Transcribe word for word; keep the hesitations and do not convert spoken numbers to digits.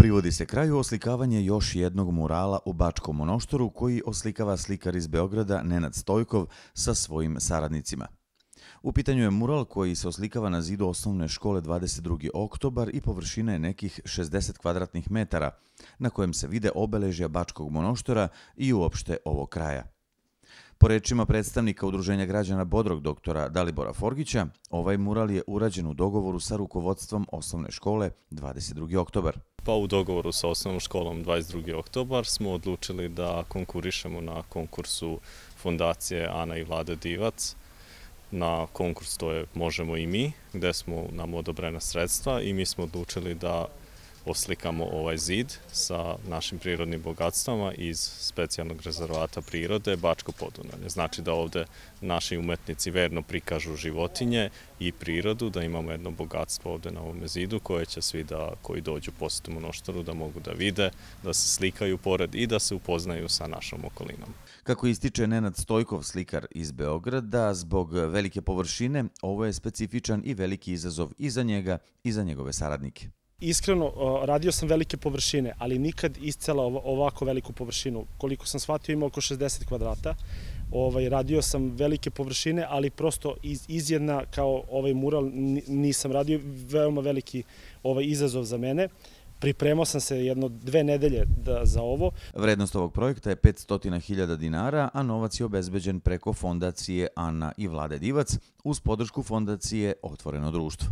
Privodi se kraju oslikavanje još jednog murala u Bačkom Monoštoru koji oslikava slikar iz Beograda Nenad Stojkov sa svojim saradnicima. U pitanju je mural koji se oslikava na zidu osnovne škole dvadeset drugi oktobar i površina je nekih šezdeset kvadratnih metara, na kojem se vide obeležja Bačkog Monoštora i uopšte ovog kraja. Po rečima predstavnika Udruženja građana Bodrog doktora Dalibora Forgića, ovaj mural je urađen u dogovoru sa rukovodstvom osnovne škole dvadeset drugi oktobar. Pa u dogovoru sa osnovnom školom dvadeset drugi oktobar smo odlučili da konkurišemo na konkursu Fondacije Ana i Vlade Divac. Na konkurs to je Možemo i mi, gde smo nam odobrena sredstva i mi smo odlučili da oslikamo ovaj zid sa našim prirodnim bogatstvama iz specijalnog rezervata prirode Bačko Podunavlje. Znači da ovde naši umetnici verno prikažu životinje i prirodu, da imamo jedno bogatstvo ovde na ovome zidu koje će svi da, koji dođu posjetu Monoštoru da mogu da vide, da se slikaju pored i da se upoznaju sa našom okolinom. Kako ističe Nenad Stojkov, slikar iz Beograda, zbog velike površine, ovo je specifičan i veliki izazov i za njega i za njegove saradnike. Iskreno, radio sam velike površine, ali nikad iscela ovako veliku površinu. Koliko sam shvatio, ima oko šezdeset kvadrata. Radio sam velike površine, ali prosto iz jedna kao ovaj mural nisam radio. Veoma veliki izazov za mene. Pripremao sam se jedno dve nedelje za ovo. Vrednost ovog projekta je petsto hiljada dinara, a novac je obezbeđen preko Fondacije Ana i Vlade Divac uz podršku Fondacije Otvoreno društvo.